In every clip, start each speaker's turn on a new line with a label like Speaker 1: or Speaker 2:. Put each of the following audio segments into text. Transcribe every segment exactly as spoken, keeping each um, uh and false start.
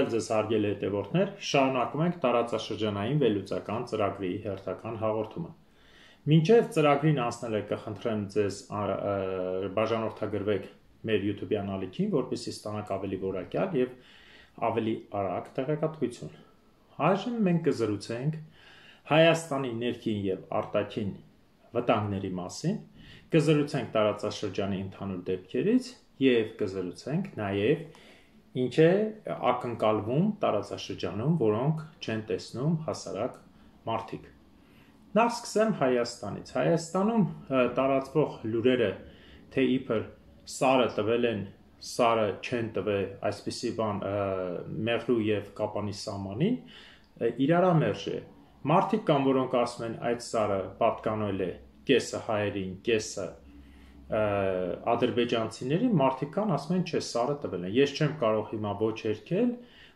Speaker 1: Բարև ձեզ հարգելի հետևորդներ, շարունակում ենք տարածաշրջանային վերլուծական ծրագրի հերթական հաղորդումը։ Մինչև ծրագրին անցնելը կխնդրեմ ձեզ բաժանորդագրվեք մեր YouTube ալիքին, որպեսզի ստանաք ավելի որակյալ եւ ավելի արագ տեղեկատվություն։ Այժմ մենք կզրուցենք Հայաստանի ներքին եւ արտաքին վտանգների մասին, կզրուցենք տարածաշրջանի ընդհանուր դեպքերից եւ կզրուցենք նաեւ ինչ է ակնկալվում տարածաշրջանում, որոնք չեն տեսնում հասարակ մարդիկ։ Նախ սկսեմ Հայաստանից։ Հայաստանում տարածվող լուրերը, թե իբր սարը տվել են, սարը չեն տվել, այսպիսի բան Մեղրու եւ Կապանի սահմանին, իրարամերժ է։ Մարդիկ կան, որոնք ասում են այդ սարը պատկանել է կեսը հայերին, կեսը ադրբեջանցիներին, մարդիկ կան ասում են, չէ, սարը տվել են։ Ես չեմ կարող հիմա ոչ երգել,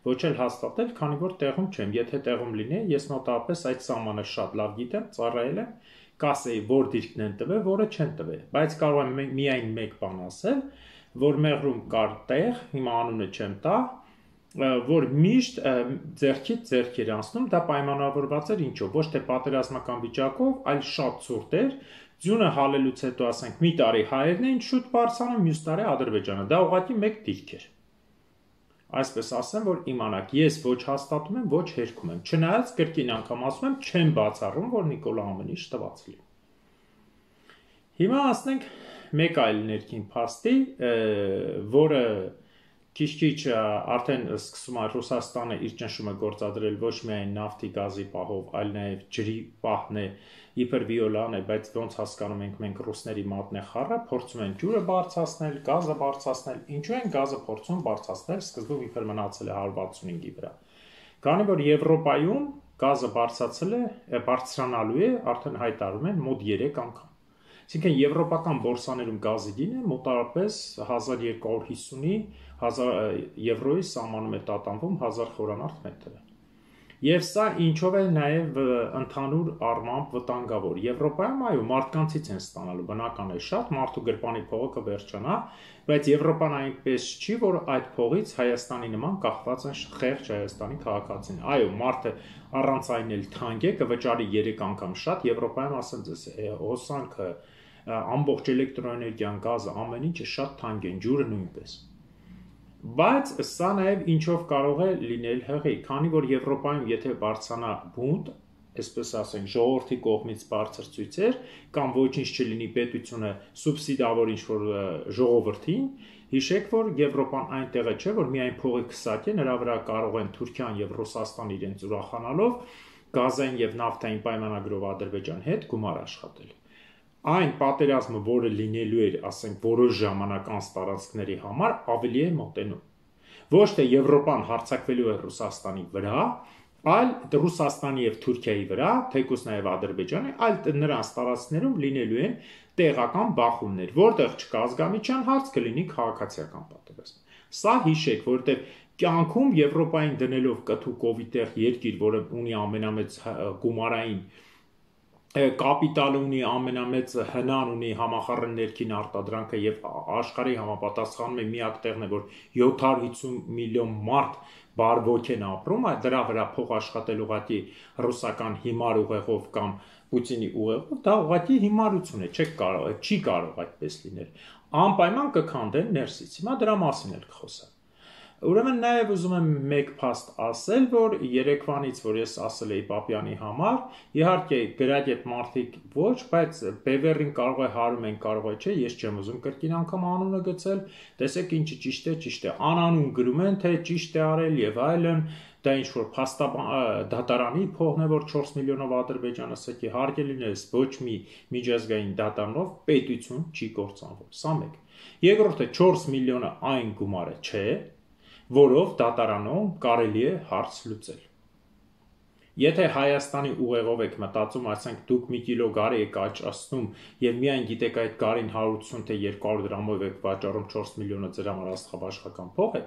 Speaker 1: ոչ էլ հաստատել, քանի որ տեղում չեմ։ Եթե տեղում լինի, ես մոտավորապես այդ սահմանը շատ լավ գիտեմ, ծառայել եմ, կասեի, որ դիրքն են տվել, որը չեն տվել։ Բայց կարող եմ միայն մեկ բան ասել, որ Մեղրում կար տեղ, հիմա անունը չեմ տա, որ միշտ ձեռքից ձեռք էր անցնում, դա պայմանավորված էր ինչով, ոչ թե պատերազմական վիճակով, այլ շատ ցուրտ էր։ Ձյունը հալելուց հետո ասենք մի տարի հայերն էին շուտ բարձրանում, մյուս տարի Ադրբեջանը։ Դա ուղղակի մեկ դիրք էր։ Այսպես ասեմ, որ իմանաք, ես ոչ հաստատում եմ, ոչ հերքում եմ։ Չնայած կրկին անգամ ասում եմ, չեմ բացառում, որ Նիկոլա ամեն ինչ տված լինի։ Հիմա ասենք մեկ այլ ներքին փաստի, որը քիչ-քիչ արդեն սկսում է Ռուսաստանը իր ճնշումը գործադրել ոչ միայն նավթի գազի պահով, այլ նաև ջրի պահն է, իբր վիոլան է, բայց ոնց հասկանում ենք մենք ռուսների մատն է խառը, փորձում են ջուրը բարձրացնել, գազը բարձրացնել, ինչու են գազը փորձում բարձրացնել, սկզբում իբր մնացել է հարյուր վաթսունհինգի վրա։ Քանի որ Եվրոպայում գազը բարձրացել է, բարձրանալու է, արդեն հայտարարում են մոտ երեք անգամ։ Այսինքն եվրոպական բորսաներում գազի գինը մոտավորապես հազար երկու հարյուր հիսունի եվրոյի սահմանում է տատանվում հազար խորանարդ մետրը։ Եվ սա ինչով է նաև ընդհանուր առմամբ վտանգավոր։ Եվրոպայում այո մարդկանցից են ստանալու, բնական է շատ, մարդու գրպանի փողը կվերջանա, բայց Եվրոպան այնպես չի, որ այդ փողից Հայաստանի նման կախված են խեղճ Հայաստանի քաղաքացին։ Այո, մարդը առանց այն էլ թանկ է, կվճարի երեք անգամ շատ, Եվրոպայում ասեմ ձեզ, հոսանքը, ամբողջ էլեկտրոէներգիան, գազը, ամեն ինչը շատ թանկ են, ջուրը նույնպես։ Բայց սա նաև ինչով կարող է լինել հղի, քանի որ Եվրոպայում եթե բարձրանա բունտ, այսպես ասենք, ժողովրդի կողմից բարձր ցույցեր, կամ ոչինչ չլինի պետությունը սուբսիդավոր ինչ-որ ժողովրդին, հիշեք, որ Եվրոպան այնտեղը չէ, որ միայն փողի քսակ է, նրա վրա կարող են Թուրքիան եւ Ռուսաստան իրենց ուրախանալով գազային եւ նավթային պայմանագրով Ադրբեջան հետ գումար աշխատել։ Այն պատերազմը, որը լինելու էր, ասենք, որոշ ժամանակ անց տարածքների համար, ավելի է մոտենում։ Ոչ թե Եվրոպան հարձակվելու է Ռուսաստանի վրա, այլ Ռուսաստանի եւ Թուրքիայի վրա, թեկուզ նաեւ Ադրբեջանի, այլ նրանց տարածքներում լինելու են տեղական բախումներ, որտեղ չկա ազգամիջյան հարց, կլինի քաղաքացիական պատերազմ։ Սա հիշեք, որտեղ կյանքում Եվրոպային դնելով կթու կովիտեղ երկիր, որը ունի ամենամեծ գումարային կապիտալ ունի, ամենամեծ հնան ունի համախառն ներքին արտադրանքը եւ աշխարհի համապատասխանում է միակ տեղն է, որ յոթ հարյուր հիսուն միլիոն մարդ բարվոք են ապրում, այդ դրա վրա փող աշխատել ուղղակի ռուսական հիմար ուղեղով կամ Պուտինի ուղեղով, դա ուղղակի հիմարություն է, չեք կարող, չի կարող այդպես լինել։ Անպայման կքանդեն ներսից։ Հիմա դրա մասին էլ կխոսեմ։ Ուրեմն նաև ուզում եմ մեկ փաստ ասել, որ երեկվանից, որ ես ասել էի Պապյանի համար, իհարկե գրագետ մարդիկ ոչ, բայց բևեռին կարող է հարում են, կարող է չէ, ես չեմ ուզում կրկին անգամ անունը գծել, տեսեք ինչը ճիշտ է, ճիշտ է, անանուն գրում են, թե ճիշտ է արել եւ այլն, դա ինչ որ դատարանի փողն է, որ չորս միլիոնով Ադրբեջանը սքի հարկե լինես, ոչ մի միջազգային դատարանով պետություն չի կործանվում, սա մեկ։ Երկրորդը չորս միլիոնը այն գումարը չէ, որով դատարանում կարելի է հարց լուծել։ Եթե Հայաստանի ուղեղով եք մտածում, ասենք դուք մի կիլո գարի եք աճացնում եւ միայն գիտեք այդ գարին հարյուր ութսուն թե երկու հարյուր դրամով եք վաճառում չորս միլիոնը ձեր համար աստղաբաշխական փող է,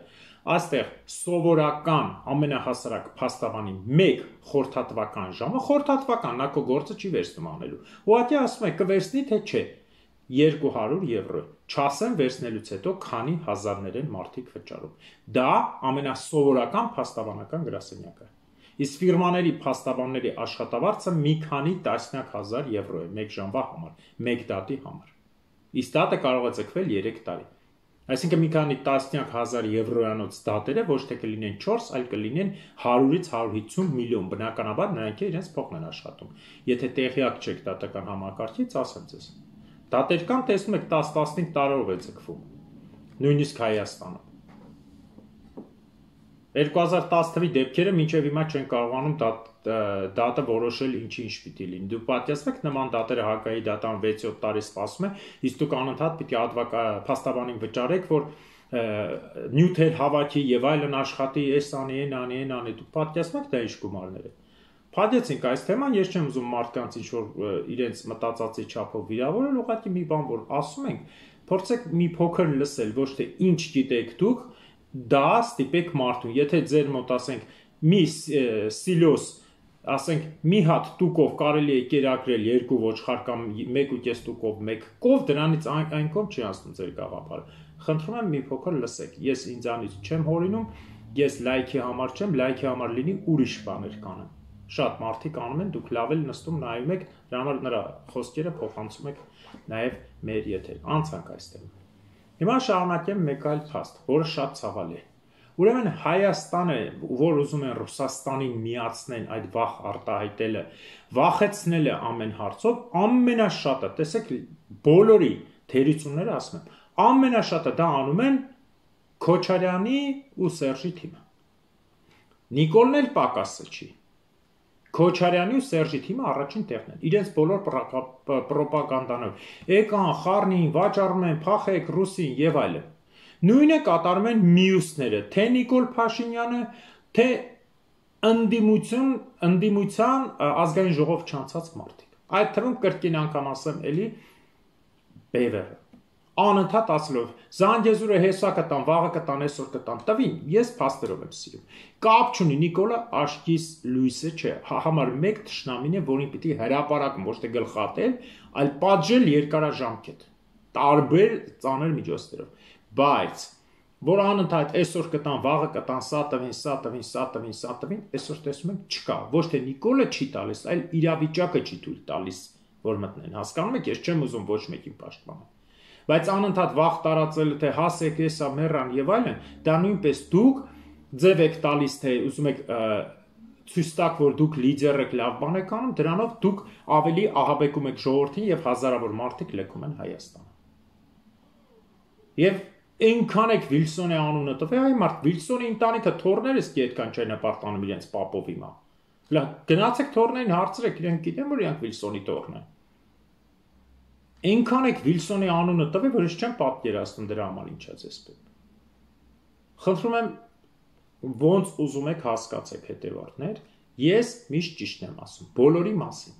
Speaker 1: այստեղ սովորական ամենահասարակ փաստաբանի մեկ խորհրդատվական ժամը, խորհրդատվական նա քո գործը չի վերցնում անելու։ Ուղղակի ասում է կվերցնի թե չէ։ երկու հարյուր եվրո է։ Չասեմ վերցնելուց հետո քանի հազարներ են մարդիկ վճարում։ Դա ամենասովորական փաստաբանական գրասենյակը։ Իսկ ֆիրմաների փաստաբանների աշխատավարձը մի քանի տասնյակ հազար եվրո է մեկ ժամվա համար, մեկ դատի համար։ Իսկ դատը կարող է ձգվել երեք տարի։ Այսինքն մի քանի տասնյակ հազար եվրոյանոց դատերը ոչ թե կլինեն չորս, այլ կլինեն հարյուրից հարյուր հիսուն միլիոն, բնականաբար նրանք իրենց փոխն են աշխատում։ Եթե տեղյակ չեք դատական համակարգից, ասեմ ձեզ։ Դատեր կան, տեսնում եք տասը տասնհինգ տարով է ձգվում, նույնիսկ Հայաստանում։ երկու հազար տասը թվականի դեպքերը մինչև հիմա չեն կարողանում դատը որոշել ինչի ինչ պիտի լինի։ Դուք պատկերացնեք նման դատերը Հակայի դատան վեց-յոթ տարի սպասում է, իսկ դուք անընդհատ պիտի փաստաբանին վճարեք, որ նյութեր հավաքի եւ այլն աշխատի, էս անի, են անի, են անի։ Դուք պատկերացնեք դա ինչ գումարներ է։ Փաթեթինք այս թեման, ես չեմ ուզում մարդկանց ինչ որ իրենց մտածածի չափով վիրավորել, ուղղակի մի բան որ ասում ենք, փորձեք մի փոքր լսել, ոչ թե ինչ գիտեք դուք, դա ստիպեք մարդուն, եթե ձեր մոտ ասենք մի սիլոս, ասենք մի հատ տուկով կարելի է կերակրել երկու ոչխար կամ մեկ ու կես տուկով մեկ կով, դրանից այն կողմ չի անցնում ձեր գաղափարը։ Խնդրում եմ մի փոքր լսեք, ես ինձանից չեմ հորինում, ես լայքի համար չեմ, լայքի համար լինի ուրիշ բաներ կանեմ։ Շատ մարդիկ անում են, դուք լավ էլ նստում նայում եք, դրա համար նրա խոսքերը փոխանցում եք նաև մեր եթեր, անցանք այստեղ։ Հիմա շարունակեմ մեկ այլ փաստ, որը շատ ցավալի է։ Ուրեմն Հայաստանը, որ ուզում են Ռուսաստանին միացնեն այդ վախ արտահայտելը, վախեցնելը ամեն հարցով, ամենաշատը, տեսեք, բոլորի թերությունները ասում են, ամենաշատը դա անում են Քոչարյանի ու Սերժի թիմը։ Նիկոլն էլ պակասը չի։ Քոչարյանի ու Սերժի թիմը առաջին տեղն են, իրենց բոլոր պրոպագանդանով, եկան, խառնին, վաճառում են, փախեք ռուսին եւ այլն։ Նույնը կատարում են մյուսները, թե Նիկոլ Փաշինյանը, թե ընդդիմություն, ընդդիմության ազգային ժողով չանցած մարդիկ։ Այդ թվում կրկին անգամ ասեմ էլի Բևերը։ Անընդհատ ասելով, Զանգեզուրը հեսա կտան, վաղը կտան, այսօր կտան, տվին, ես փաստերով եմ սիրում։ Կապ չունի, Նիկոլը աշկիս լույսը չէ, համար մեկ թշնամին է, որին պիտի հրապարակում, ոչ թե գլխատել, այլ պատժել երկարաժամկետ, տարբեր ծանր միջոցներով։ Բայց որ անընդհատ այսօր կտան, վաղը կտան, սա տվին, սա տվին, սա տվին, սա տվին, այսօր տեսնում ենք չկա, ոչ թե Նիկոլը չի տալիս, այլ իրավիճակը չի թույլ տալիս, որ մտնեն։ Հասկանում եք, ես չեմ ուզում ոչ մեկին պաշտպանել։ Բայց անընդհատ վախ տարածելը, թե հասեք, եսա, մեռան եւ այլն, դա նույնպես դուք ձև եք տալիս, թե ուզում եք ցույց տաք, որ դուք լիդեր եք, լավ բան եք անում, դրանով դուք ավելի ահաբեկում եք ժողովրդին եւ հազարավոր մարդիկ լքում են Հայաստանը։ Եվ այնքան եք Վիլսոնի անունը տվել, այ մարդ Վիլսոնի ընտանիքը թորներս კი այդքան չեն հպարտանում իրենց պապով հիմա։ Լավ, գնացեք թորներին հարցրեք, իրենք գիտեն, որ իրանք Վիլսոնի թորն են։ Այնքան եք Վիլսոնի անունը տվել, որ ես չեմ պատկերացնում դրա համար ինչա ձեզ պետք։ Խնդրում եմ ոնց ուզում եք հասկացեք հետևորդներ, ես միշտ ճիշտն եմ ասում, բոլորի մասին,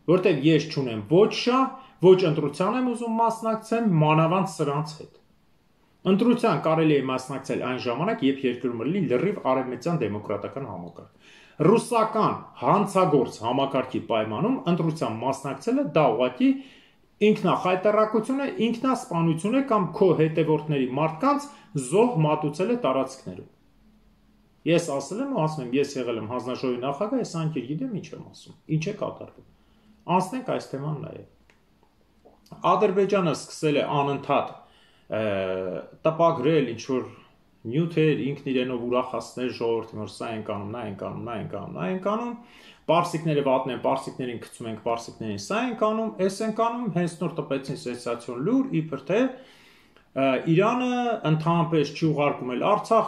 Speaker 1: որտեղ ես չունեմ ոչ շահ, ոչ ընտրության եմ ուզում մասնակցել, մանավանդ սրանց հետ։ Ընտրության կարելի է մասնակցել այն ժամանակ, երբ երկրում լինի լրիվ արևմտյան դեմոկրատական համակարգ։ Ռուսական հանցագործ համակարգի պայմանում ընտրության մասնակցելը դա ուղղակի ինքնախայտարակություն է, ինքնասպանություն է կամ քո հետևորդների մարդկանց զոհ մատուցել է տարածքներում։ Ես ասել եմ ու ասում եմ, ես եղել եմ հանձնաժողովի նախագահ, ես անկեր գիտեմ ինչ եմ ասում, ինչ է կատարվում։ Անցնենք այս թեման նաև։ Ադրբեջանը սկսել է անընդհատ տպագրել ինչ-որ նյութեր, ինքն իրենով ուրախացնել ժողովրդին, որ սա ենք անում, նա ենք անում, նա ենք անում, նա ենք անում, պարսիկները վատն են, պարսիկներին գցում ենք, պարսիկներին սա ենք անում, էս ենք անում, հենց նոր տպեցին սենսացիոն լուր, իբր թե Իրանը ընդհանրապես չի ուղարկում էլ Արցախ,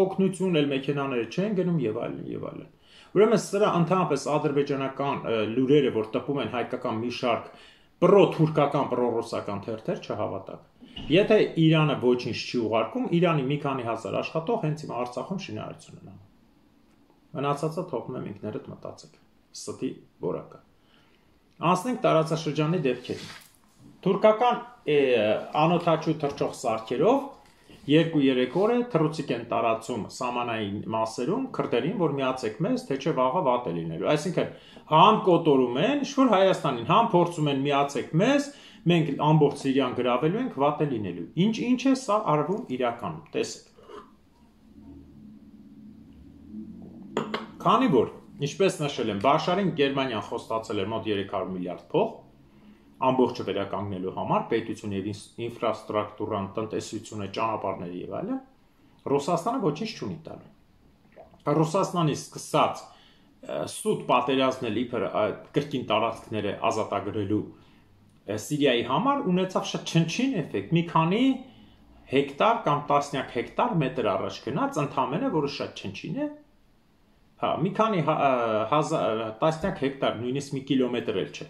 Speaker 1: օգնություն էլ մեքենաները չեն գնում եւ այլն եւ այլն։ Ուրեմն սրա ընդհանրապես ադրբեջանական լուրերը, որ տպում են հայկական մի շարք պրո-թուրքական, պրո-ռուսական թերթեր, չհավատաք։ Եթե Իրանը ոչինչ չի ուղարկում, Իրանի մի քանի հազար աշխատող հենց հիմա Արցախում շինարարություն են անում։ Մնացածը թողնում եմ ինքներդ մտածեք։ Ստի որակը։ Անցնենք տարածաշրջանի դեպքերին։ Թուրքական անօթաչու թռչող սարքերով երկու-երեք օր է թռուցիկ են տարածում սահմանային մասերում քրդերին, որ միացեք մեզ, թե չէ վաղը վատ է լինելու։ Այսինքն, համ կոտորում են, ինչ որ Հայաստանին, համ փորձում են միացեք մեզ, մենք ամբողջ Սիրիան գրավելու ենք, վատ է լինելու։ Ինչ-ինչ է սա արվում իրականում, տեսեք։ Քանի որ, ինչպես նշել եմ, Բաշարին Գերմանիան խոստացել էր մոտ երեք հարյուր միլիարդ փող, ամբողջը վերականգնելու համար, պետություն եւ ինֆրաստրուկտուրան, տնտեսությունը, ճանապարհները եւ այլն, Ռուսաստանը ոչինչ չունի տալու։ Ռուսաստանի սկսած սուտ պատերազմնել իբր կրկին տարածքները ազատագրելու Սիրիայի համար ունեցավ շատ չնչին էֆեկտ, մի քանի հեկտար կամ տասնյակ հեկտար մետր առաջ գնաց, ընդամենը, որը շատ չնչին է, հա, մի քանի տասնյակ հեկտար, նույնիսկ մի կիլոմետր էլ չէ,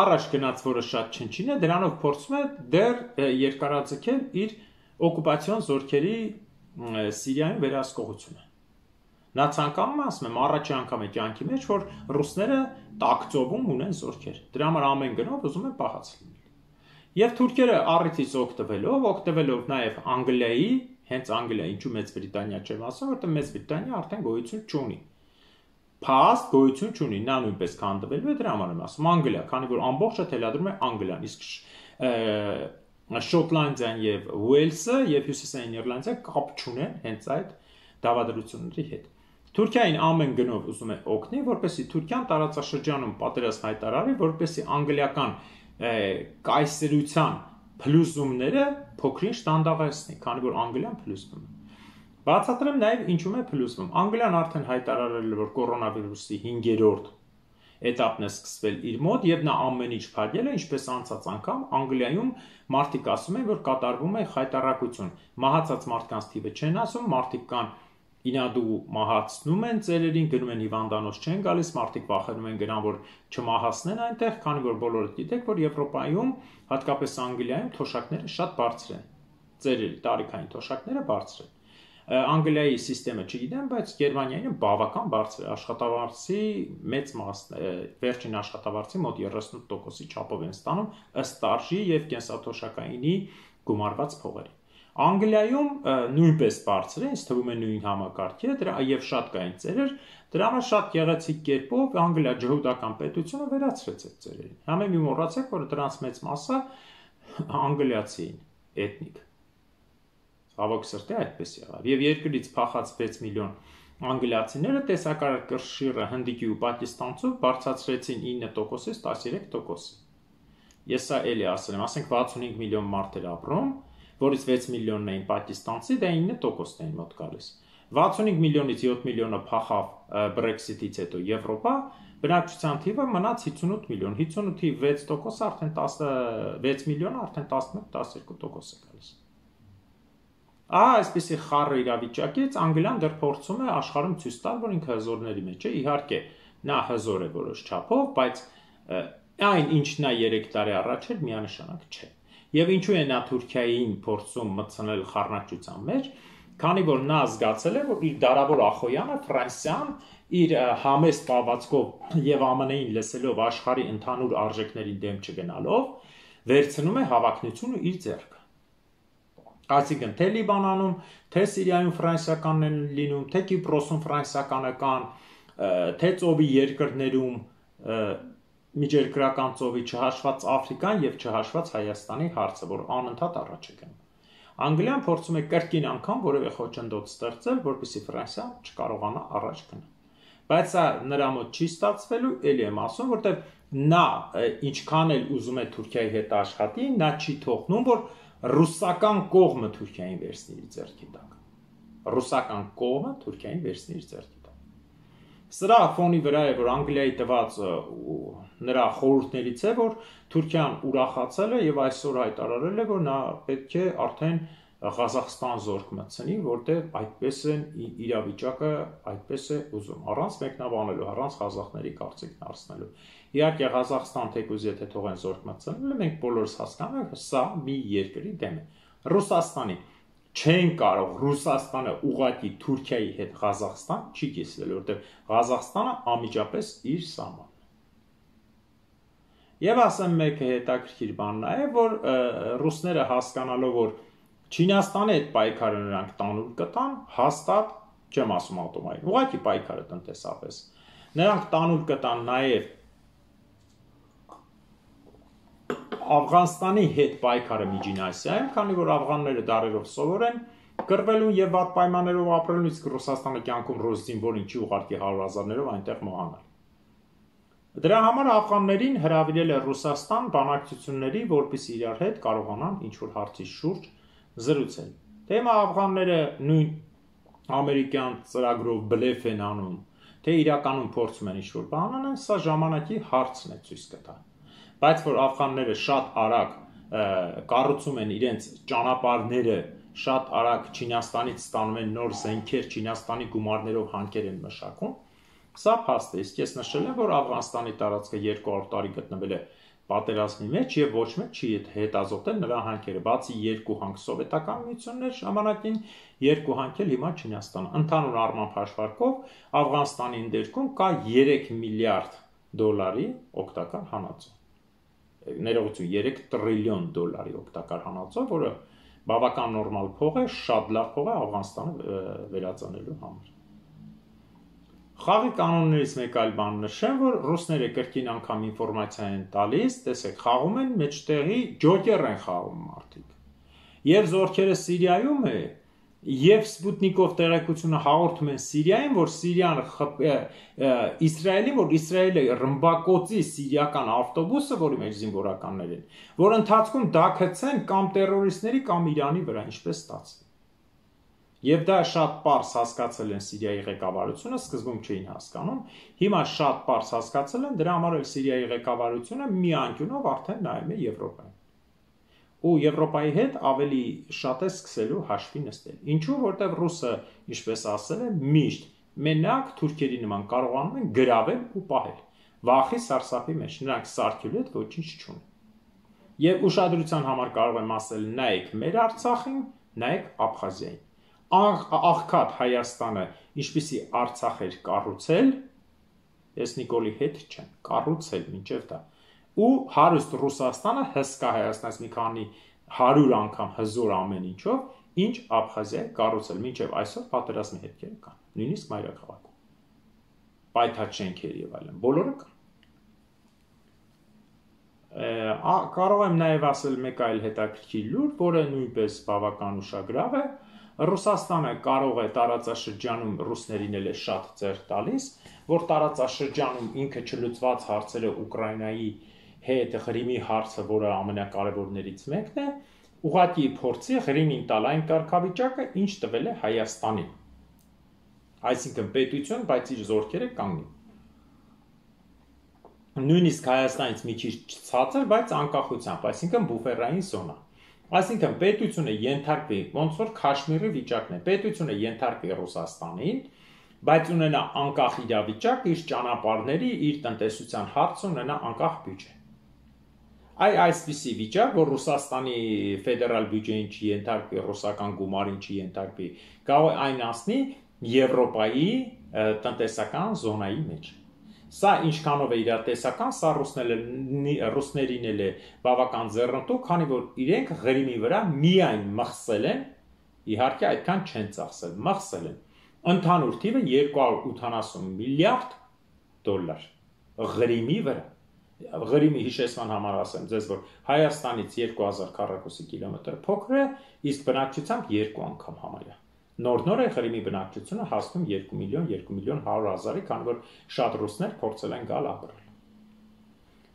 Speaker 1: առաջ գնաց, որը շատ չնչին է, դրանով փորձում է դեռ երկարաձգել իր օկուպացիոն զորքերի Սիրիայում վերահսկողությունը։ Նա ցանկանում է, ասում եմ, առաջի անգամ է կյանքի մեջ, որ ռուսները տակծովում ունեն զորքեր։ Դրա համար ամեն գնով ուզում են պահած լինել։ Եվ թուրքերը առիթից օգտվելով, օգտվելով նաև Անգլիայի, հենց Անգլիա, ինչու Մեծ Բրիտանիա չեմ ասում, որտեղ Մեծ Բրիտանիա արդեն գոյություն չունի։ Փաստ գոյություն չունի, նա նույնպես քանդվելու է, դրա համար եմ ասում Անգլիա, քանի որ ամբողջը թելադրում է Անգլիան, իսկ Շոտլանդիան եւ Ուելսը եւ Հյուսիսային Իռլանդիա կապ չունեն հենց այդ դավադրությունների հետ։ Թուրքիային ամեն գնով ուզում է օգնի, որպեսզի Թուրքիան տարածաշրջանում պատերազմ հայտարարի, որպեսզի անգլիական կայսերության փլուզումները փոքրինչ դանդաղեցնի, քանի որ Անգլիան փլուզվում է։ Բացատրեմ նաև ինչու է փլուզվում։ Անգլիան արդեն հայտարարել է, որ կորոնավիրուսի հինգերորդ էտապն է սկսվել իր մոտ եւ նա ամեն ինչ փակել է, ինչպես անցած անգամ Անգլիայում մարդիկ ասում են, որ կատարվում է խայտարակություն։ Մահացած մարդկանց թիվը չեն ասում, մարդիկ կան ինադու մահացնում են ծերերին, գնում են հիվանդանոց չեն գալիս, մարդիկ վախենում են գնան, որ չմահացնեն այնտեղ, քանի որ բոլորը գիտեք, որ Եվրոպայում, հատկապես Անգլիայում թոշակները շատ բարձր են։ Ծերերի տարիքային թոշակները բարձր են։ Անգլիայի համակարգը չգիտեմ, բայց Գերմանիայինը բավական բարձր է, աշխատավարձի մեծ մասն է, վերջին աշխատավարձի մոտ երեսունութ տոկոսի չափով են ստանում ըստ արժի եւ կենսաթոշակայինի գումարված փողերի։ Անգլիայում նույնպես բարձր է, ինձ թվում է նույն համակարգի է, դրա եւ շատ կային ծերեր, դրա համար շատ գեղեցիկ կերպով Անգլիա ջհուդական պետությունը վերացրեց այդ ծերերին։ Համե մի մոռացեք, որ դրանց մեծ մասը անգլիացի էին, էթնիկ։ Հավոք սրտի այդպես եղավ։ Եվ երկրից փախած վեց միլիոն անգլիացիները տեսակարար կշիռը հնդիկի ու պակիստանցով բարձրացրեցին ինը տոկոսից տասնյոթ տոկոսի։ Ես սա էլի ասել եմ, ասենք վաթսունհինգ միլիոն մարդ էր ապրում, որից վեց միլիոնն էին պակիստանցի, դա ինը տոկոսն էին մոտ գալիս։ վաթսունհինգ միլիոնից յոթ միլիոնը փախավ Brexit-ից հետո Եվրոպա, բնակչության թիվը մնաց հիսունութ միլիոն, հիսունութի վեց տոկոսը արդեն վեց միլիոնը արդեն տասնմեկ տասներկու տոկոս է գալիս։ Ահա այսպեսի խառը իրավիճակից Անգլիան դեռ փորձում է աշխարհում ցույց տալ, որ ինքը հզորների մեջ է։ Իհարկե, նա հզոր է որոշ չափով, բայց այն ինչ նա երեք տարի առաջ էր, միանշանակ չէ։ Եվ ինչու է նա Թուրքիային փորձում մտցնել խառնակցության մեջ, քանի որ նա զգացել է, որ իր դարավոր ախոյանը Ֆրանսիան իր համեստ պահվածքով եւ ԱՄՆ -ին լսելով աշխարհի ընդհանուր արժեքների դեմ չգնալով, վերցնում է հավակնությունը իր ձեռքը։ Այսինքն թե Լիբանանում, թե Սիրիայում ֆրանսիականն են լինում, թե Կիպրոսում ֆրանսիականական, թե ծովի երկրներում միջերկրական ծովի չհաշված Աֆրիկան եւ չհաշված Հայաստանի հարցը, որ անընդհատ առաջ է գնում։ Անգլիան փորձում է կրկին անգամ որևէ խոչընդոտ ստեղծել, որպեսզի Ֆրանսիան չկարողանա առաջ գնալ։ Բայց սա նրա մոտ չի ստացվելու, ելի եմ ասում, որտեղ նա ինչքան էլ ուզում է Թուրքիայի հետ աշխատի, նա չի թողնում, որ ռուսական կողմը Թուրքիային վերցնի իր ձեռքի տակ։ Ռուսական կողմը Թուրքիային վերցնի իր ձեռքի տակ։ Սրա ֆոնի վրա է, որ Անգլիայի տված նրա խորհուրդներից է, որ Թուրքիան ուրախացել է եւ այսօր հայտարարել է, որ նա պետք է արդեն Ղազախստան զորք մտցնի, որտեղ այդպես են իրավիճակը այդպես է ուզում, առանց մեկնաբանելու, առանց ղազախների կարծիքն առցնելու։ Իհարկե Ղազախստան թեկուզ եթե թողեն զորք մտցնել, մենք բոլորս հասկանում ենք, սա մի երկրի դեմ է։ Ռուսաստանի չեն կարող Ռուսաստանը ուղղակի Թուրքիայի հետ Ղազախստան չի կիսվել, որտեղ Ղազախստանը անմիջապես իր սահմանն է։ Եվ ասեմ մեկ հետաքրքիր բան նա է, որ ռուսները հասկանալով, որ Չինաստանի հետ պայքարը նրանք տանուլ կտան, հաստատ չեմ ասում ատոմային, ուղղակի պայքարը տնտեսապես։ Նրանք տանուլ կտան նաև Աֆղանստանի հետ պայքարը Միջին Ասիայում, քանի որ աֆղանները դարերով սովոր են կռվելուն եւ վատ պայմաններով ապրելուն, իսկ Ռուսաստանը կյանքում ռոս զինվոր ինչի ուղարկի հարյուր հազարներով այնտեղ մահանալ։ Դրա համար աֆղաններին հրավիրել է Ռուսաստան բանակցությունների, որպեսզի իրար հետ կարողանան ինչ-որ հարցի շուրջ զրուցել։ Թե հիմա աֆղանները նույն ամերիկյան ծրագրով բլեֆ են անում, թե իրականում փորձում են ինչ-որ բան անեն, սա ժամանակի հարցն է ցույց կտա։ Բայց որ աֆղանները շատ արագ կառուցում են իրենց ճանապարհները, շատ արագ Չինաստանից ստանում են նոր զենքեր, Չինաստանի գումարներով հանքեր են մշակում, սա փաստ է, իսկ ես նշել եմ, որ Աֆղանստանի տարածքը երկու հարյուր տարի գտնվել է պատերազմի մեջ եւ ոչ մեկ չի հետազոտել նրա հանքերը, բացի երկու հանք սովետական միություններ ժամանակին, երկու հանք էլ հիմա Չինաստանը։ Ընդհանուր առմամբ հաշվարկով Աֆղանստանի ընդերքում կա երեք միլիարդ դոլարի օգտակար հանածո։ Ներողություն, երեք տրիլիոն դոլարի օգտակար հանածո, որը բավական նորմալ փող է, շատ լավ փող է Աֆղանստանը վերածանելու համար։ Խաղի կանոններից մեկ այլ բան նշեմ, որ ռուսները կրկին անգամ ինֆորմացիա են տալիս, տեսեք, խաղում են մեջտեղի ջոկեր են խաղում մարդիկ։ Եվ զորքերը Սիրիայում է, եւ Սպուտնիկով տեղեկությունը հաղորդում են Սիրիային, որ Սիրիան Իսրայելին, որ Իսրայելը ռմբակոծի սիրիական ավտոբուսը, որի մեջ զինվորականներ են, որ ընթացքում դա գցեն կամ տերորիստների կամ Իրանի վրա, ինչպես ստացվի։ Եվ դա շատ պարզ հասկացել են Սիրիայի ղեկավարությունը, սկզբում չէին հասկանում, հիմա շատ պարզ հասկացել են, դրա համար էլ Սիրիայի ղեկավարությունը մի անկյունով արդեն նայում է Եվրոպային։ Ու Եվրոպայի հետ ավելի շատ է սկսելու հաշվի նստել։ Ինչու, որտեղ ռուսը, ինչպես ասել է, միշտ մենակ թուրքերի նման կարողանում են գրավել ու պահել։ Վախի սարսափի մեջ նրանք սարքելու հետ ոչինչ չունեն։ Եվ ուշադրության համար կարող եմ ասել, նայեք մեր Արցախին, նայեք Աբխազիային։ Աղքատ Հայաստանը, ինչպիսի Արցախ էր կառուցել, ես Նիկոլի հետ չեմ, կառուցել մինչև դա, ու հարուստ Ռուսաստանը հսկա Հայաստանից մի քանի հարյուր անգամ հզոր ամեն ինչով, ինչ Աբխազիայի կառուցել, մինչև այսօր պատերազմի հետքերը կան, նույնիսկ մայրաքաղաքում, պայթած շենքեր եւ այլն, բոլորը կան։ Կարող եմ նաև ասել մեկ այլ հետաքրքիր լուր, որը նույնպես բավական ուշագրավ է։ Ռուսաստանը կարող է տարածաշրջանում ռուսներին էլ է շատ ձեռք տալիս, որ տարածաշրջանում ինքը չլուծված հարցերը Ուկրաինայի հետ Ղրիմի հարցը, որը ամենակարևորներից մեկն է, ուղղակի փորձի Ղրիմին տալ այն կարգավիճակը, ինչ տվել է Հայաստանին։ Այսինքն պետություն, բայց իր զորքերը կանգնի։ Նույնիսկ Հայաստանից մի քիչ ցածր, բայց անկախությամբ, այսինքն բուֆերային զոնա։ Այսինքն պետությունը ենթարկվի, ոնց որ Քաշմիրի վիճակն է, պետությունը ենթարկվի Ռուսաստանին, բայց ունենա անկախ իրավիճակ, իր ճանապարհների, իր տնտեսության հարց ունենա անկախ բյուջե։ Այ այսպիսի վիճակ, որ Ռուսաստանի ֆեդերալ բյուջեին չի ենթարկվի, ռուսական գումարին չի ենթարկվի, կարող է այն ասնի Եվրոպայի տնտեսական զոնայի մեջ։ Սա ինչքանով է իրատեսական, սա ռուսներին էլ է բավական ձեռնտու, քանի որ իրենք Ղրիմի վրա միայն մխսել են, իհարկե այդքան չեն ծախսել, մխսել են։ Ընդհանուր թիվը երկու հարյուր ութանասուն միլիարդ դոլար Ղրիմի վրա։ Ղրիմի հիշեցման համար ասեմ ձեզ, որ Հայաստանից երկու հազար քառակուսի կիլոմետր փոքր է, իսկ բնակչությամբ երկու անգամ համարյա։ Նոր-նոր է Ղրիմի բնակչությունը հասնում երկու միլիոն, երկու միլիոն հարյուր հազարի, քանի որ շատ ռուսներ փորձել են գալ ապրել։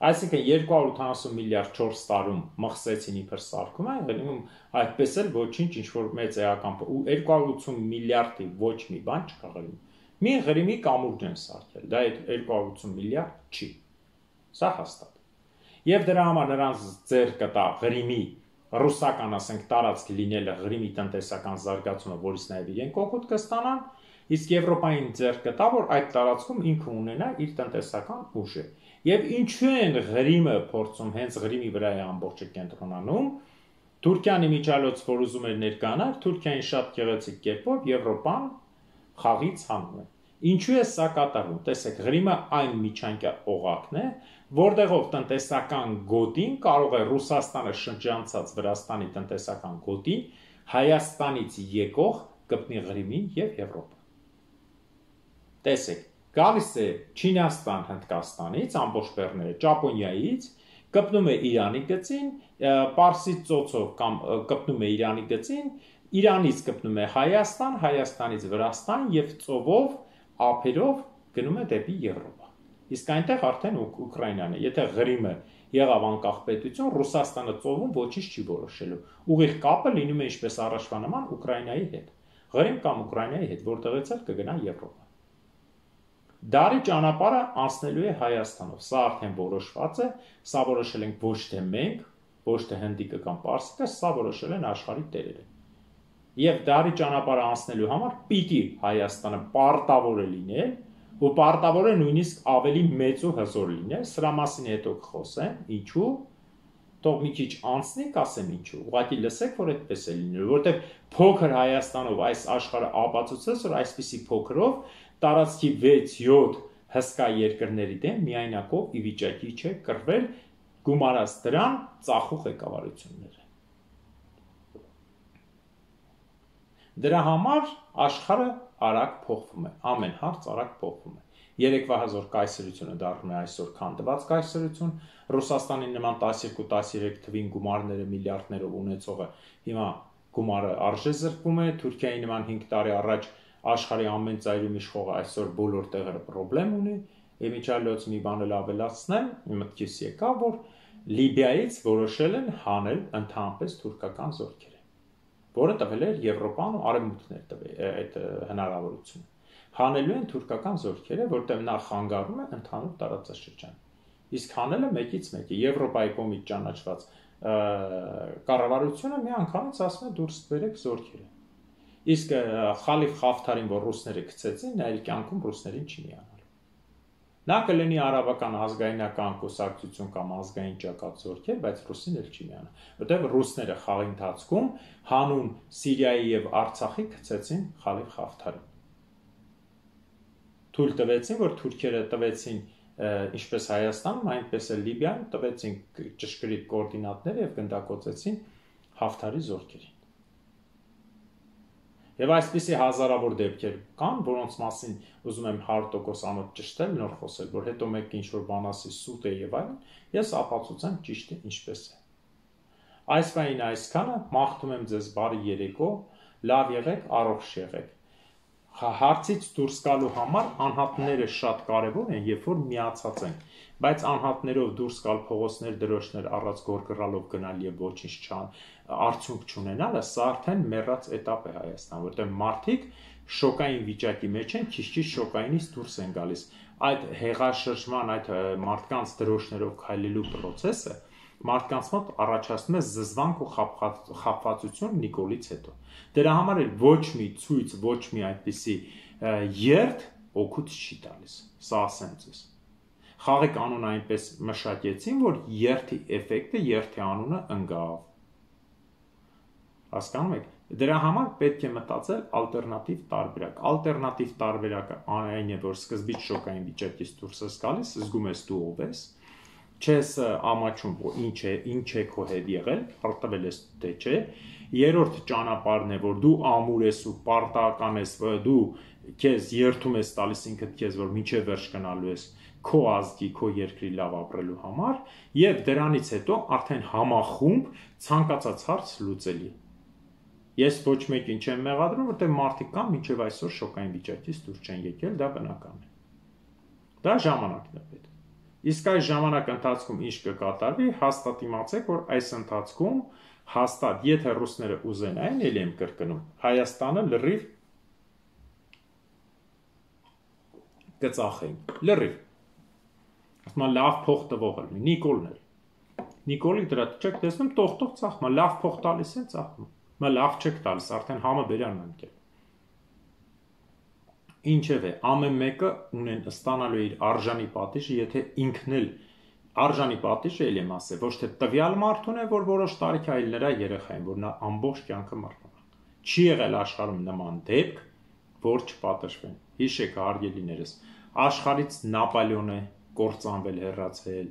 Speaker 1: Այսինքն երկու հարյուր ութանասուն միլիարդ չորս տարում մխսեցին իբր սարքում է, Ղրիմում այդպես էլ ոչինչ ինչ-որ մեծ էական ու երկու հարյուր ութան միլիարդի ոչ մի բան չկա Ղրիմում։ Մի Ղրիմի կամուրջն են սարքել, դա երկու հարյուր ութան միլիարդ չի։ Սա հաստատ։ Եվ դրա համար նրանց ձեռ կտա Ղրիմի ռուսական, ասենք, տարածք լինելը Ղրիմի տնտեսական զարգացումը, որից նաև իրենք օգուտ կստանան, իսկ Եվրոպային ձեռք կտա, որ այդ տարածքում ինքը ունենա իր տնտեսական ուժը։ Եվ ինչու են Ղրիմը փորձում հենց Ղրիմի վրա է ամբողջը կենտրոնանում, Թուրքիան իմիջիալոց, որ ուզում էր ներկանալ, Թուրքիային շատ գեղեցիկ կերպով Եվրոպան խաղից հանում է։ Ինչու է սա կատարվում։ Տեսեք, Ղրիմը այն միջանկյա օղակն է, որտեղով տնտեսական գոտին կարող է Ռուսաստանը շրջանցած Վրաստանի տնտեսական գոտին Հայաստանից եկող կպնի Ղրիմին եւ Եվրոպա։ Տեսեք, գալիս է Չինաստան Հնդկաստանից, ամբողջ բեռները, Ճապոնիայից, կպնում է Իրանի գծին, Պարսից ծոցով կամ կպնում է Իրանի գծին, Իրանից կպնում է Հայաստան, Հայաստանից Վրաստան եւ ծովով, ափերով գնում է դեպի Եվրոպա։ Իսկ այնտեղ արդեն Ուկրաինան է։ Եթե Ղրիմը եղավ անկախ պետություն, Ռուսաստանը ծովում ոչինչ չի որոշելու։ Ուղիղ կապը լինում է ինչպես առաջվա նման Ուկրաինայի հետ։ Ղրիմ կամ Ուկրաինայի հետ, որտեղից էլ կգնա Եվրոպա։ Դարի ճանապարհը անցնելու է Հայաստանով։ Սա արդեն որոշված է, սա որոշել ենք ոչ թե մենք, ոչ թե հնդիկը կամ պարսիկը, սա որոշել են աշխարհի տերերը։ Եվ դարի ճանապարհը անցնելու համար պիտի Հայաստանը պարտավոր է լինել, ու պարտավոր է նույնիսկ ավելի մեծ ու հզոր լինել, սրա մասին հետո կխոսեմ, ինչու, թող մի քիչ անցնի, կասեմ ինչու, ուղղակի լսեք, որ այդպես է լինելու, որտեղ փոքր Հայաստանով այս աշխարհը ապացուցեց, որ այսպիսի փոքրով տարածքի վեց յոթ հսկա երկրների դեմ միայնակով ի վիճակի չէ կռվել, գումարած դրան ծախող ղեկավարությունները։ Դրա համար աշխարհը արագ փոխվում է, ամեն հարց արագ փոխվում է։ Երեկվա հզոր կայսրությունը դառնում է այսօր քանդված կայսրություն, Ռուսաստանի նման տասներկու տասներեք թվին գումարները միլիարդներով ունեցողը հիմա գումարը արժե զրկվում է, Թուրքիայի նման հինգ տարի առաջ աշխարհի ամեն ծայրում իշխողը այսօր բոլոր տեղերը խնդրեմ ունի, Եմիջալոց մի բան էլ ավելացնեմ, մտքիս եկավ, որ Լիբիայից որոշել են հանել ընդհանրապես թուրքական զորքերը, որը տվել էր Եվրոպան ու Արևմուտքն էր տվել այդ հնարավորությունը։ Հանելու են թուրքական զորքերը, որտեղ նա խանգարում է ընդհանուր տարածաշրջան։ Իսկ հանելը մեկից մեկ է, Եվրոպայի կողմից ճանաչված կառավարությունը մի անգամից ասում է դուրս բերեք զորքերը։ Իսկ Խալիֆ Խաֆթարին, որ ռուսները գցեցին, նա իր կյանքում ռուսներին չի միանալու։ Նա կլինի արաբական ազգայնական կուսակցություն կամ ազգային ճակատ զորքեր, բայց ռուսին էլ չի միանա, որտեղ ռուսները խաղի ընթացքում հանուն Սիրիայի եւ Արցախի գցեցին Խալիֆ Խաֆթարին։ Թույլ տվեցին, որ թուրքերը տվեցին ինչպես Հայաստանում, այնպես էլ Լիբիայում տվեցին ճշգրիտ կոորդինատներ եւ գնդակոծեցին Հաֆթարի զորքերին։ Եվ այսպիսի հազարավոր դեպքեր կան, որոնց մասին ուզում եմ հարյուր տոկոս անոց ճշտել, նոր խոսել, որ հետո մեկ ինչ-որ բան ասի սուտ է եւ այլն, ես ապացուցեմ ճիշտը ինչպես է։ Այս վային այսքանը, մաղթում եմ ձեզ բարի երեկո, լավ եղեք, առողջ եղեք։ Հարցից դուրս գալու համար անհատները շատ կարևոր են, երբ որ միացած են, բայց անհատներով դուրս գալ փողոցներ, դրոշներ առած գոր կռալով գնալ եւ ոչինչ չան, արդյունք չունենալը, սա արդեն մեռած էտապ է Հայաստան, որտեղ մարդիկ շոկային վիճակի մեջ են, քիչ-քիչ շոկայինից դուրս են գալիս։ Այդ հեղաշրջման, այդ մարդկանց դրոշներով քայլելու process-ը մարդկանց մոտ առաջացնում է զզվանք ու խաբվածություն Նիկոլից հետո։ Դրա համար էլ ոչ մի ցույց, ոչ մի այդպիսի երթ օգուտ չի տալիս։ Սա ասեմ ձեզ։ Խաղի կանոնը այնպես մշակեցին, որ երթի էֆեկտը, երթի անունը ընկավ։ Հասկանում եք։ Դրա համար պետք է մտածել ալտերնատիվ տարբերակ։ Ալտերնատիվ տարբերակը այն է, որ սկզբից շոկային վիճակից դուրս ես գալիս, զգում ես դու ով ես, չես ամաչում, որ ինչ է, ինչ է քո հետ եղել, արտվել ես թե չէ։ Երրորդ ճանապարհն է, որ դու ամուր ես ու պարտական ես, դու քեզ երթում ես տալիս ինքդ քեզ, որ միջև վերջ գնալու ես քո ազգի, քո երկրի լավ ապրելու համար, եւ դրանից հետո արդեն համախումբ ցանկացած հարց լուծելի։ Ես ոչ մեկին չեմ մեղադրում, որտեղ մարդիկ կան մինչև այսօր շոկային վիճակից դուրս չեն եկել, դա բնական է։ Դա ժամանակն է պետք։ Իսկ այս ժամանակ ընթացքում ինչ կկատարվի, հաստատ իմացեք, որ այս ընթացքում հաստատ, եթե ռուսները ուզեն, այն էլ եմ կրկնում, Հայաստանը լրիվ կծախեն, լրիվ։ Ասում եմ լավ փող տվող է, Նիկոլն է։ Նիկոլի դրա չեք տեսնում, տող-տող ծախում, լավ փող տալիս են ծախում։ Մա լավ չեք տալիս, արդեն համը բերանն ընկել։ Ինչևէ, ամեն մեկը ունեն ստանալու իր արժանի պատիժը, եթե ինքն էլ արժանի պատիժը էլ եմ ասել, ոչ թե տվյալ մարդուն է, որ որոշ տարիք այլ նրա երեխային, որ նա ամբողջ կյանքը մարտունակ։ Չի եղել աշխարհում նման դեպք, որ չպատժվեն։ Հիշեք, հարգելիներս, աշխարհից Նապոլեոն է կործանվել, հեռացել,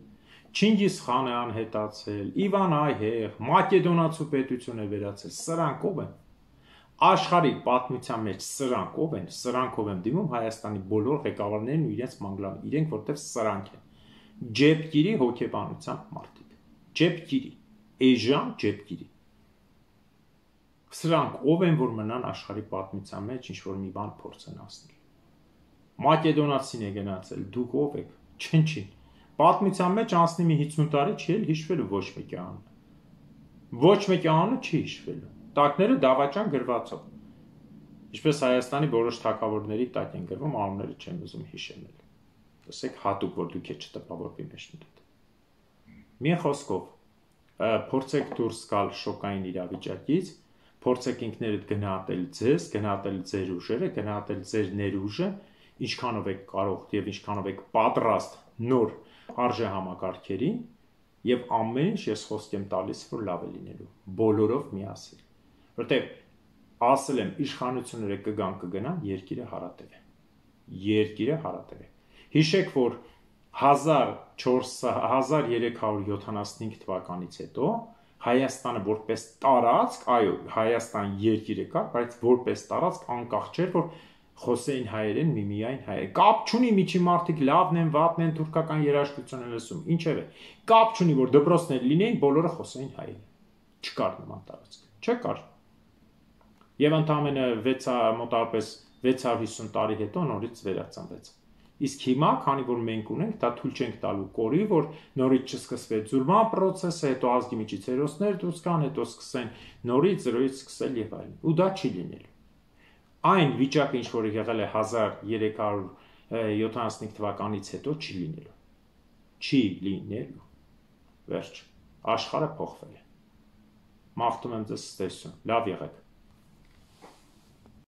Speaker 1: Չինգիզ խանը անհետացել, Իվան Այհեղ, Մակեդոնացու պետություն է վերացել, սրանք ով են։ Աշխարհի պատմության մեջ սրանք ով են, սրանքով եմ դիմում Հայաստանի բոլոր ղեկավարներն ու իրենց մանգլան, իրենք որտեվ սրանք են։ Ջեպկիրի հոգեբանության մարդիկ։ Ջեպկիրի, էժան ջեպկիրի։ Սրանք ով են, որ մնան աշխարհի պատմության մեջ ինչ-որ մի բան փորձեն ասնել։ Մակեդոնացին է գնացել, դուք ով եք։ Չնչին։ Պատմության մեջ անցնի մի հիսուն տարի չի էլ հիշվելու ոչ մեկի անունը։ Ոչ մեկի անունը չի հիշվելու։ Տակները դավաճան գրվածով։ Ինչպես Հայաստանի որոշ թագավորների տակ են գրվում, անունները չեմ ուզում հիշել։ Տեսեք հատուկ, որ դուք է չտպավորվի մեջ մտել։ Մի խոսքով, փորձեք դուրս գալ շոկային իրավիճակից, փորձեք ինքներդ գնահատել ձեզ, գնահատել ձեր ուժերը, գնահատել ձեր ներուժը, ինչքանով եք կարող եւ ինչքանով եք պատրաստ նոր արժեհամակարգերին, եւ ամեն ինչ ես խոսք եմ տալիս, որ լավ է լինելու, բոլորով միասին։ Որտեղ ասել եմ, իշխանությունները կգան կգնան, երկիրը հարատև է։ Երկիրը հարատև է։ Հիշեք, որ հազար երեք հարյուր յոթանասունհինգ թվականից հետո Հայաստանը որպես տարածք, այո, Հայաստան երկիրը կա, բայց որպես տարածք անկախ չէր, որ խոսեին հայերեն, միմիայն հայեր։ Կապ չունի միջի մարդիկ լավն են, վատն են, թուրքական երաժշտություն են լսում, ինչևէ։ Կապ չունի, որ դպրոցներ լինեին, բոլորը խոսեին հայերեն։ Չկար նման տարածք, չկար։ Եվ ընդամենը մոտավորապես վեց հարյուր հիսուն տարի հետո նորից վերածնվեց։ Իսկ հիմա, քանի որ մենք ունենք, դա թույլ չենք տալու կորի, որ նորից չսկսվեց զուրման պրոցեսը, հետո ազգի միջից հերոսներ դուրս գան, հետո սկսեն նորից զրոյից սկսել եւ այլն։ Ու դա չի լինելու։ Այն վիճակը, ինչ որ եղել է հազար երեք հարյուր յոթանասունհինգ թվականից հետո, չի լինելու։ Չի լինելու։ Վերջ։ Աշխարհը փոխվել է։ Մաղթում եմ ձեզ ստեսություն։ Լավ եղեք։